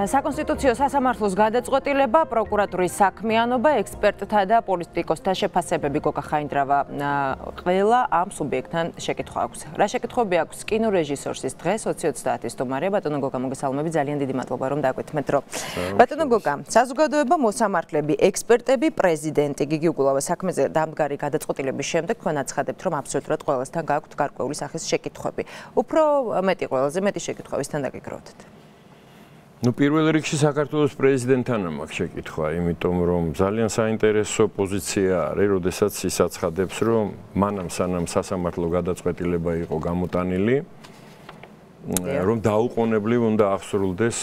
საკონსტიტუციო სასამართლოს გადაწყვეტილება, პროკურატურის საქმიანობა, ექსპერტთა და პოლიტიკოსთა შეფასებები გოგა ხაინდრავა ყველა ამ სუბიექტთან შეკითხვა აქვს. რა შეკითხვები აქვს კინორეჟისორს დღეს 20:30 სტუმარია ბატონო გოგა მოგესალმები ძალიან დიდი მადლობა რომ დაგვეთმეთ დრო. ბატონო გოგა, საზოგადოება, მოსამართლეები, ექსპერტები, პრეზიდენტი გიგი უგულავა საქმეზე დამდგარი გადაწყვეტილების შემდეგ თქვენ აცხადებთ რომ აბსოლუტურად ყველასთან გაქვთ გარკვეული სახის შეკითხვები. უფრო მეტი ყველაზე მეტი შეკითხვებისთან დაგეგროვდეთ. პირველ რიგში საქართველოს პრეზიდენტთან მაქვს შეკითხვა, იმიტომ რომ ძალიან საინტერესო პოზიცია არის, როდესაც ის აცხადებს, რომ მანამ სანამ სასამართლო გადაწყვეტილება იყო გამოტანილი, რომ დაუყოვნებლივ უნდა აღსრულდეს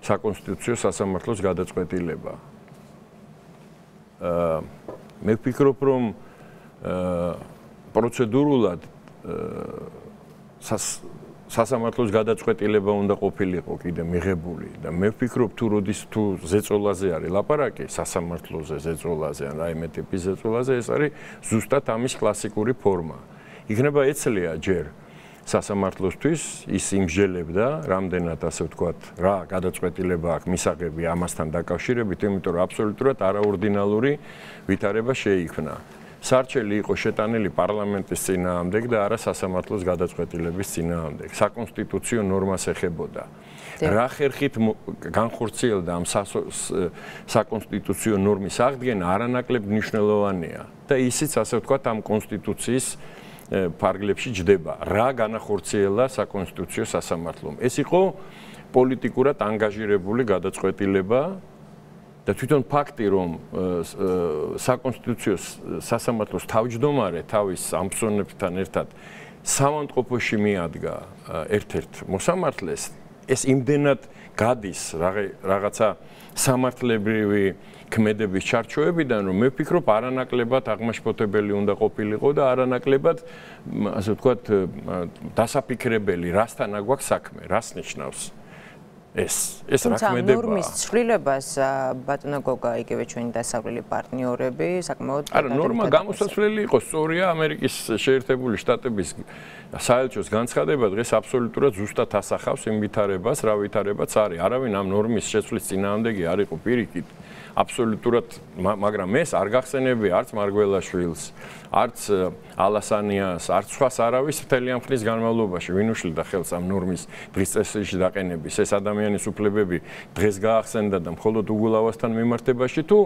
საკონსტიტუციო სასამართლოს გადაწყვეტილება. მე ვფიქრობ, რომ პროცედურულად სასამართლოს გადაწყვეტილება უნდა ყოფილიყო კიდე მიღებული და მე ვფიქრობ თუ როდის თუ ზეწოლაზე არის ლაპარაკი სასამართლოზე ზეწოლაზე ან რაიმე ტიპის ზეწოლაზე ეს არის ზუსტად ამის კლასიკური ფორმა. იქნება ეცლია ჯერ სასამართლოსთვის ის იმსჯელებდა რამდენად ასე ვთქვათ რა გადაწყვეტილება აქვს მისაღები ამასთან დაკავშირებით, იმიტომ რომ აბსოლუტურად არაორდინალური ვითარება შეიქმნა. სარჩელი იყო შეტანილი პარლამენტის წინააღმდეგ და არა სასამართლოს გადაწყვეტილების წინააღმდეგ. საკონსტიტუციო ნორმას ეხებოდა. რა ხერხით განხორციელდა ამ საკონსტიტუციო ნორმის აღდგენა არანაკლებ მნიშვნელოვანია და ისიც ასე ვთქვათ ამ კონსტიტუციის ფარგლებში ჯდება. რა განახორციელა საკონსტიტუციო სასამართლომ. ეს იყო პოლიტიკურად ანგაჟირებული გადაწყვეტილება და თვითონ ფაქტი, რომ საკონსტიტუციო სასამართლოს თავმჯდომარე თავის ამბსონებთან ერთად სამავთყოფოში მიადგა ერთ-ერთ მოსამართლეს, ეს იმდენად გადის რაღაცა სამართლებრივი ქმედების ჩარჩოებიდან, რომ მე ვფიქრობ არანაკლებად აღმაშფოთებელი უნდა ყოფილიყო და არანაკლებად, ასე ვთქვათ, დასაფიქრებელი, რასთან აგვაქვს საქმე, რას ნიშნავს ეს რაქმედება. ნორმის ცვლილებას ბატონო გოგა იგივე ჩვენი დასავლელი პარტნიორები საკმაოდ არა ნორმა გამოსაცვლელი იყო სწორია ამერიკის შეერთებული შტატების საელჩოს განცხადება დღეს აბსოლუტურად ზუსტად ასახავს იმ ვითარებას, რა ვითარებაც არის. არავინ ამ ნორმის შეცვლის წინააღმდეგი არ იყო პირიქით. აბსოლუტურად, მაგრამ ეს არ გახსენებია არც მარგველაშვილს, არც ალასანიას, არც სხვას არავის მთელი ამ ხნის განმავლობაში ვინ უშლიდა ხელს ამ ნორმის დღის წესრიგში დაყენების. ეს ადამიანის უფლებები დღეს გაახსენდა და მხოლოდ უგულავასთან მიმართებაში თუ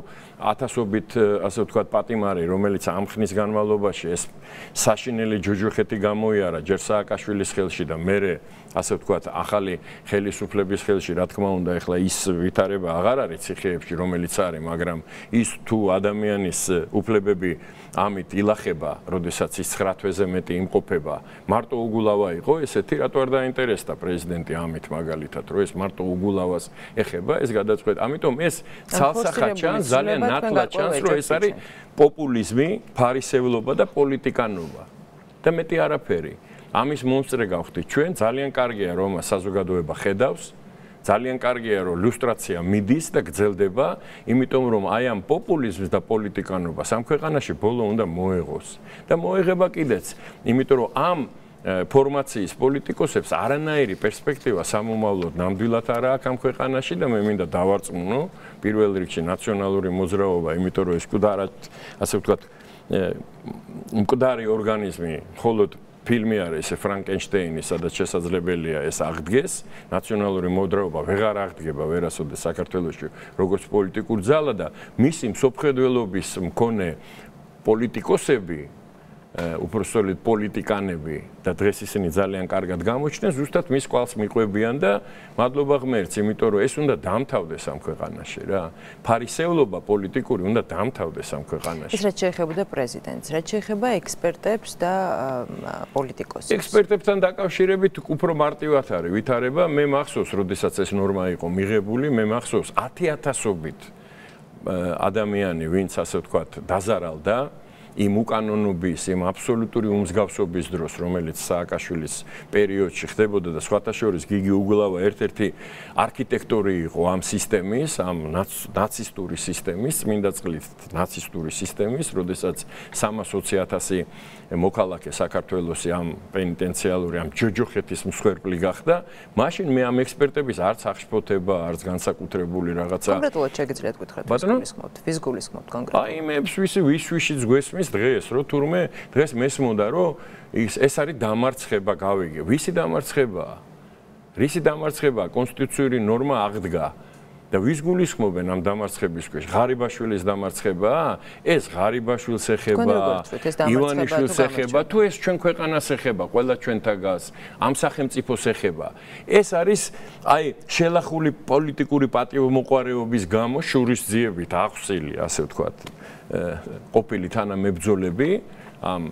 ათასობით, ასე ვთქვათ, პატიმარი, რომელიც ამ ხნის განმავლობაში ეს საშინელი ჯოჯოხეთი გამოიარა ჯერ სააკაშვილის ხელში და მერე ასე ვთქვათ, ახალი ხელისუფლების ხელში, რა თქმა უნდა, ეხლა ის ვითარება აღარ არის ციხეებში, რომელიც არის, მაგრამ ის თუ ადამიანის უფლებები ამით ილახება, როდესაც ის 9 თვეზე მეტი იმყოფება, მარტო უგულავა იყო, ესეთი რატო არ დაინტერესდა პრეზიდენტი ამით მაგალითად, რომ ეს მარტო უგულავას ეხება, ეს გადაწყვეტა. ამიტომ ეს ცალსახად ჩანს, ძალიან ნათლად ჩანს, რომ ეს არის პოპულიზმი, ფარისევლობა და პოლიტიკანობა. და მეტი არაფერი. ამის მომსწრე გავხდით ჩვენ, ძალიან კარგია რომ საზოგადოება ხედავს, ძალიან კარგია რომ ლუსტრაცია მიდის და გრძელდება, იმიტომ რომ აი ამ პოპულიზმს და პოლიტიკანობას ამ ქვეყანაში ბოლო უნდა მოეღოს. და მოეღება კიდეც, იმიტომ რომ ამ ფორმაციის პოლიტიკოსებს არანაირი პერსპექტივა სამომავლოდ ნამდვილად არ აქვს ამ ქვეყანაში და მე მინდა დავარწმუნო პირველ რიგში ნაციონალური მოძრაობა, იმიტომ რომ ეს მკვდარად, ასე ვთქვათ, მკვდარი ორგანიზმი მხოლოდ ფილმი არის ეს ფრანკენშტეინი, სადაც შესაძლებელია ეს აღდგეს, ნაციონალური მოძრაობა ვეღარ აღდგება ვერასოდეს საქართველოში როგორც პოლიტიკური ძალა და მისი მსოფლმხედველობის მქონე პოლიტიკოსები, უпростоლით პოლიტიკანები და დღეს ისინი ძალიან კარგად გამოჩნდნენ, ზუსტად მის კვალს მიყვებიან და მადლობა ღმერთს, იმიტომ რომ ეს უნდა დამთავრდეს ამ ქვეყანაში რა. ფარისევლობა პოლიტიკური უნდა დამთავრდეს ამ ქვეყანაში. ეს რაც შეეხებოდა პრეზიდენტს, რაც შეეხება ექსპერტებს და პოლიტიკოსებს. ექსპერტებთან დაკავშირებით უფრო მარტივად არის ვითარება. მე მახსოვს, როდესაც ეს ნორმა იყო მიღებული, მე მახსოვს 10,000-ობით ადამიანი, ვინც ასე ვთქვათ, დაზარალდა იმ უკანონობის, იმ აბსოლუტური უმსგავსობის დროს, რომელიც სააკაშვილის პერიოდში ხდებოდა და სხვათა შორის გიგი უგლავა ერთ-ერთი არქიტექტორი იყო ამ სისტემის, ამ ნაცისტური სისტემის, წმინდა წყლით ნაცისტური სისტემის, როდესაც 320,000 მოქალაქე საქართველოსი ამ პენიტენციალური, ამ ჯოჯოხეთის მსხვერპლი გახდა, მაშინ მე ამ ექსპერტების არც აღშფოთება, არც განსაკუთრებული რაღაცა. კონკრეტულად შეგიძლიათ გითხრათ, ვის გულისხმობთ კონკრეტულად? აი მე ვისვიშიც გვესმის დღეს, რომ თურმე დღეს მესმოდა, რომ ეს არის დამარცხება, გავიგე. ვისი დამარცხებაა? რისი დამარცხებაა? კონსტიტუციური ნორმა აღდგა. და ვის გულისხმობენ ამ დამარცხების ქვეშ? ღარიბაშვილის დამარცხებაა? ეს ღარიბაშვილს ეხება, ივანიშვილს ეხება, თუ ეს ჩვენ ქვეყანას ეხება, ყველა ჩვენთაგას, ამ სახელმწიფოს ეხება. ეს არის აი შელახული პოლიტიკური პატივმოყვარეობის გამო შურისძიებით აღსილი, ასე ვთქვათ, ყოფილი თანამებრძოლები, ამ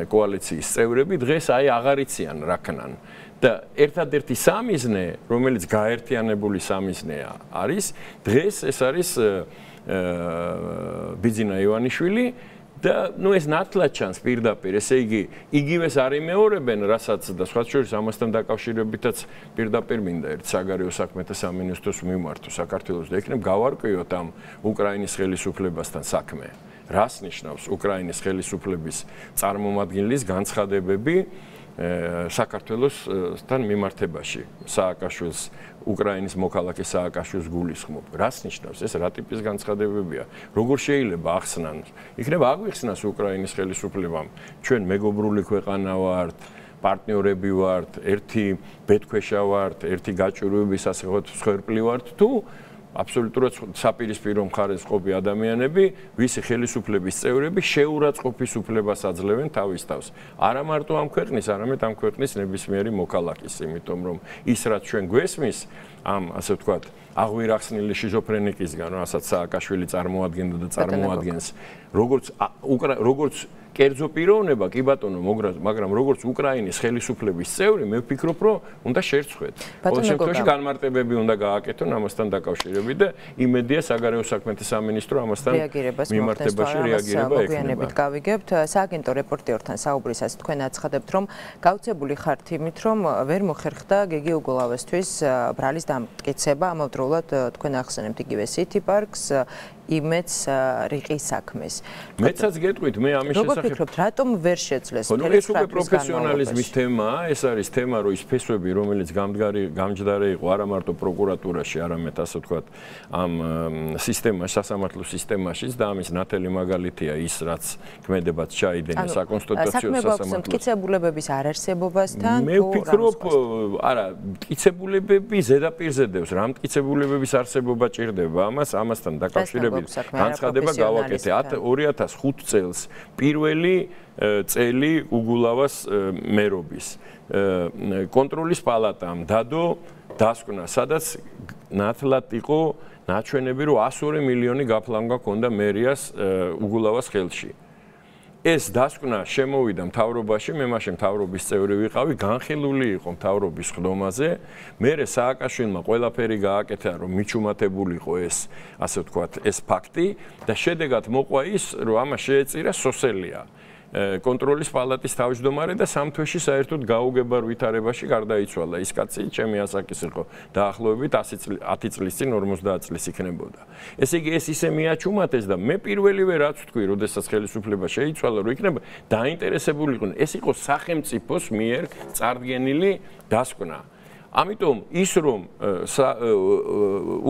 კოალიციის წევრები დღეს აი აღარ იციან რა ქნან. და ერთადერთი სამიზნე, რომელიც გაერთიანებული სამიზნეა, არის დღეს ეს არის ბიძინა ივანიშვილი და ნუ ეს ნათლად ჩანს პირდაპირ, ესე იგი იგივეს არ იმეორებენ, რასაც და სხვა შორის ამასთან დაკავშირებითაც პირდაპირ მინდა ერთ საგარეო საქმეთა სამინისტროს მიმართო საქართველოს და იქნებ გავარკვიოთ ამ უკრაინის ხელისუფლებასთან საქმე. რას ნიშნავს უკრაინის ხელისუფლების წარმომადგენლის განცხადებები საქართველოსთან მიმართებაში სააკაშვილს უკრაინის მოქალაქე სააკაშვილს გულისხმობ. რას ნიშნავს ეს? რა ტიპის განცხადებებია? როგორ შეიძლება ახსნან? იქნება აგვიხსნას უკრაინის ხელისუფლებამ, ჩვენ მეგობრული ქვეყანა ვართ, პარტნიორები ვართ, ერთი ბედქვეშა ვართ, ერთი გაჭირვების ასე ვთქვათ მსხვერპლი ვართ თუ აბსოლუტურად საპირისპირო მხარეს ყოფი ადამიანები, ვისი ხელისუფლების წევრები შეურაცხყოფის უფლებას აძლევენ თავის თავს. არა მარტო ამ ქვეყნის, არამედ ამ ქვეყნის ნებისმიერი მოქალაქის, იმიტომ რომ ის რაც ჩვენ გვესმის, ამ ასე ვთქვათ, აღვირახსნილი შიზოფრენიკისგან, რასაც სააკაშვილი წარმოადგენდა და წარმოადგენს, როგორც კერძო პიროვნება, კი ბატონო, მაგრამ როგორც უკრაინის ხელისუფლების წევრი, მე ვფიქრობ, რომ უნდა შერცხვეთ. ყოველ შემთხვევაში განმარტებები უნდა გააკეთონ ამასთან დაკავშირებით და იმედია საგარეო საქმეთა სამინისტრო ამასთან მიმართებაში რეაგირება ექნება. გავიგებთ, სააგენტო რეპორტერთან საუბრისას თქვენ აცხადებთ, რომ გაუცებული ხართ იმით, რომ ვერ მოხერხდა გიგი უგულავესთვის ბრალის დამტკიცება, ამავდროულად თქვენ ახსენებთ იგივე City Parks იმედს რიყის საქმეს. მეცაც გეტყვით, მე ამის შესახებ. როგორ ფიქრობთ, რატომ ვერ შეძლეს? ეს უკვე პროფესიონალიზმის თემაა, ეს არის თემა, რომ ის ფესვები, რომელიც გამჯდარი იყო არა მარტო პროკურატურაში, არამედ ასე ვთქვათ, ამ სისტემაში, სასამართლო სისტემაშიც და ამის ნათელი მაგალითია ის, რაც ქმედებაც ჩაიდენა საკონსტიტუციო სასამართლოს. მტკიცებულებების არარსებობასთან მე ვფიქრობ, არა, მტკიცებულებები ზედაპირზე დევს, რა მტკიცებულებების არსებობა ჭირდება ამასთან დაკავშირებით. განცხადება გავაკეთე 2005 წელს პირველი წელი უგულავას მერობის კონტროლის პალატამ დადო დასკვნა, სადაც ნათლად იყო ნაჩვენები, რომ 102 მილიონი გაფლანგვა ჰქონდა მერიას უგულავას ხელში. ეს დასკვნა შემოვიდა მთავრობაში, მე მაშინ მთავრობის წევრი ვიყავი, განხილული იყო მთავრობის ხდომაზე. მერე სააკაშვილმა ყველაფერი გააკეთა, რომ მიჩუმატებულიყო ეს, ასე ვთქვათ, ეს ფაქტი და შედეგად მოყვა ის, რომ ამას შეეწირა სოსელია. კონტროლის პალატის თავმჯდომარე და სამთვეში საერთოდ გაუგებარ ვითარებაში გარდაიცვალა. ის კაცი ჩემი ასაკის იყო, დაახლოებით 10 წლის წინ 50 წლის იქნებოდა. ესე იგი ეს ისე მიაჩუმატეს და მე პირველივე რაც ვთქვი, როდესაც ხელისუფლება შეიცვალა, რომ იქნება დაინტერესებული იყვნენ. ეს იყო სახელმწიფოს მიერ წარდგენილი დასკვნა. ამიტომ ის რომ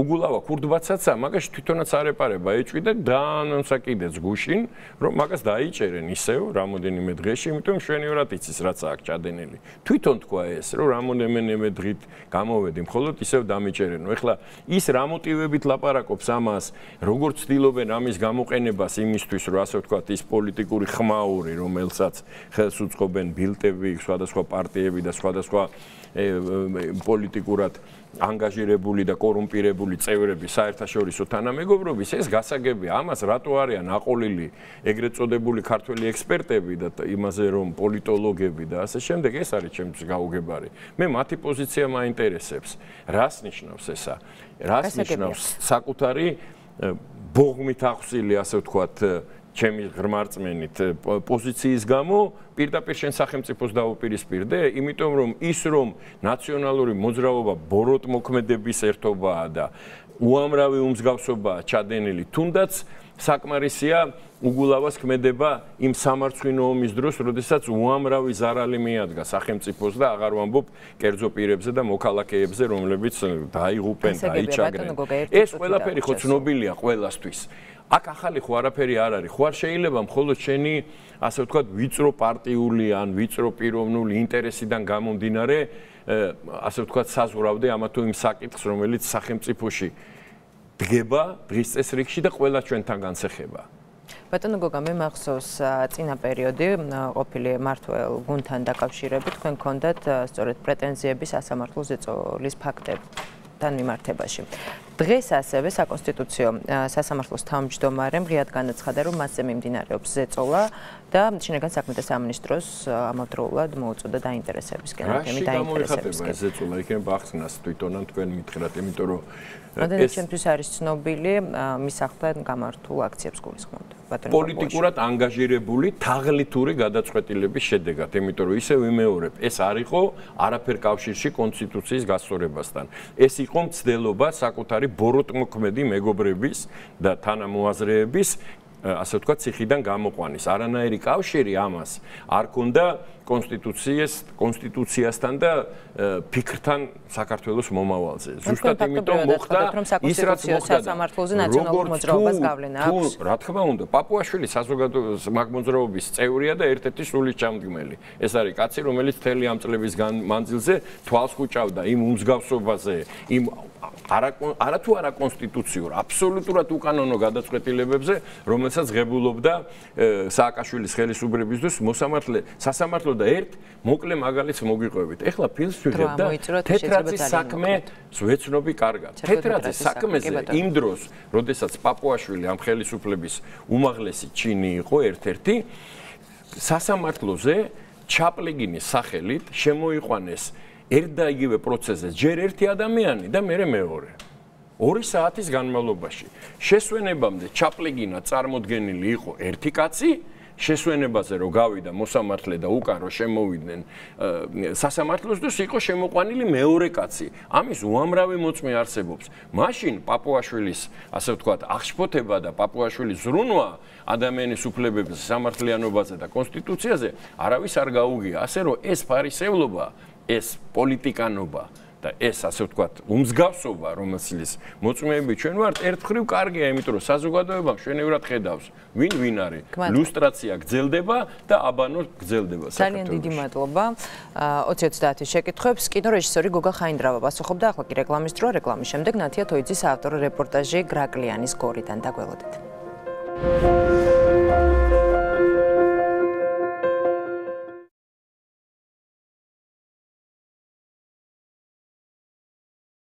უგულავა ქურდბაცაცა მაგაში თვითონაც არეპარება ეჭვიდა დაანონსა კიდეც გუშინ რომ მაგას დაიჭერენ ისევ რამოდენიმე დღეში, იმიტომ მშვენივრად იცის რაც აქ ჩადენილი. თვითონ თქვა ეს რომ რამოდენიმე დღით გამოვედი, მხოლოდ ისევ დამიჭერენო. ეხლა ის რა მოტივებით ლაპარაკობს ამას, როგორ ცდილობენ ამის გამოყენებას იმისთვის, რომ ასე ვთქვათ, ის პოლიტიკური ხმაური, რომელსაც ხელს უწყობენ ბილტები, სხვადასხვა პარტიები და სხვადასხვა პოლიტიკურად ანგაჟირებული და კორუმპირებული წევრები საერთაშორისო თანამეგობრობის, ეს გასაგებია. ამას რატო არიან აყოლილი ეგრეთ წოდებული ქართველი ექსპერტები და იმაზე რომ პოლიტოლოგები და ასე შემდეგ, ეს არის ჩემთვის გაუგებარი. მე მათი პოზიცია მაინტერესებს. რას ნიშნავს ესა? რას ნიშნავს საკუთარი ბოღმით ახსილი, ასე ვთქვათ, ჩემი ღრმარწმენით პოზიციის გამო პირდაპირ შენ სახელმწიფოს დაუპირისპირდე, იმიტომ რომ ის რომ ნაციონალური მოძრაობა ბოროტმოქმედების ერთობაა და უამრავი უმსგავსობაა ჩადენილი, თუნდაც საკმარისია უგულავას ქმედება იმ სამარცხვინო ომის დროს, როდესაც უამრავი ზარალი მიადგა სახელმწიფოს და აღარ ვამბობ კერძო პირებზე და მოქალაქეებზე, რომლებიც დაიღუპენ, დაიჭაგრენ. ეს ყველაფერი ხო ცნობილია ყველასთვის. აქ ახალი ხო არაფერი არ არის. ხო არ შეიძლება მხოლოდ შენი, ასე ვთქვათ, ვიწრო პარტიული ან ვიწრო პიროვნული ინტერესიდან გამომდინარე, ასე ვთქვათ, საზღვრავდე ამა თუ იმ საკითხს, რომელიც სახელმწიფოში დგება დღის წესრიგში და ყველა ჩვენთან განსეხება. ბატონო გოგა, მე მახსოვს წინა პერიოდი ყოფილი მმართველ გუნდთან დაკავშირებით, თქვენ გქონდათ სწორედ პრეტენზიები სასამართლო ზეწოლის ფაქტებთან მიმართებაში. დღეს ასევე საკონსტიტუციო სასამართლოს თავმჯდომარემ ღიად განაცხადა, რომ მასზე მიმდინარეობს ზეწოლა და შინაგან საქმეთა სამინისტროს ამავდროულად მოუწოდა დაინტერესებისკენ. რაში გამოიხატება ეს ზეწოლა? იქნება ახსნას თვითონან თქვენ მითხრათ, იმიტომ რომ ეს ჩემთვის არის ცნობილი მის ახლთან გამართულ აქციებს გულისხმობთ. პოლიტიკურად ანგაჟირებული თაღლითური გადაწყვეტილების შედეგად, იმიტომ რომ ისევ ვიმეორებ, ეს არ იყო არაფერ კავშირში კონსტიტუციის გასწორებასთან. ეს იყო მცდელობა საკუთარი ბოროტმოქმედი მეგობრების და თანამოაზრეების, ასე ვთქვათ, ციხიდან გამოყვანის. არანაირი კავშირი ამას არ ქონდა კონსტიტუციასთან და ფიქრთან საქართველოს მომავალზე. ზუსტად იმიტომ მოხდა ის რაც მოხდა სასამართლოზე ნაციონალურ მოძრაობას გავლენა აქვს. რა თქმა უნდა, პაპუაშვილი საზოგადო მოძრაობის წევრია და ერთ-ერთი სულის ჩამდგმელი. ეს არის კაცი, რომელიც მთელი ამ წლების მანძილზე თვალს ხუჭავდა იმ უმსგავსობაზე, იმ არათუ არა კონსტიტუციურ, აბსოლუტურად უკანონო გადაწყვეტილებებზე, რომელსაც ღებულობდა სააკაშვილის ხელისუფლების დროს სასამართლო და ერთ მოკლე მაგალითს მოგვიყვებით. ეხლა ფილმს ვიღებ და თეთრაძის საქმე ვეცნობი კარგად. თეთრაძის საქმეზე იმ დროს, როდესაც პაპუაშვილი ამ ხელისუფლების უმაღლესი ჩინი იყო ერთ-ერთი, სასამართლოზე ჩაპლიგინის სახელით შემოიყვანეს ერთ და იგივე პროცესზე ჯერ ერთი ადამიანი და მერე მეორე. 2 საათის განმავლობაში შესვენებამდე ჩაპლიგინა წარმოდგენილი იყო ერთი კაცი, შესვენებაზე რო გავიდა მოსამართლე და უკან რო შემოვიდნენ სასამართლოს დროს იყო შემოყვანილი მეორე კაცი. ამის უამრავი მოწმე არსებობს. მაშინ პაპუაშვილის, ასე ვთქვათ, აღშფოთება და პაპუაშვილის ზრუნვა ადამიანის უფლებებზე, სამართლიანობაზე და კონსტიტუციაზე არავის არ გაუგია. ასე რომ ეს ფარისევლობა, ეს პოლიტიკანობა და ეს, ასე ვთქვათ, უმსგავსობა, რომელსაც მოწმეები ჩვენ ვართ, ერთხრივ კარგია, იმიტომ რომ საზოგადოება მშვენივრად ხედავს, ვინ არის. ლუსტრაცია გრძელდება და აბანო გრძელდება. ძალიან დიდი მადლობა. 2030-ის შეკითხვებს კინორეჟისორი გოგა ხაინდრავა პასუხობდა. ახლა კი რეკლამის დრო, რეკლამის შემდეგ ნათია თოიძის ავტორო რეპორტაჟი გრაკლიანის გორიდან. დაგველოდეთ.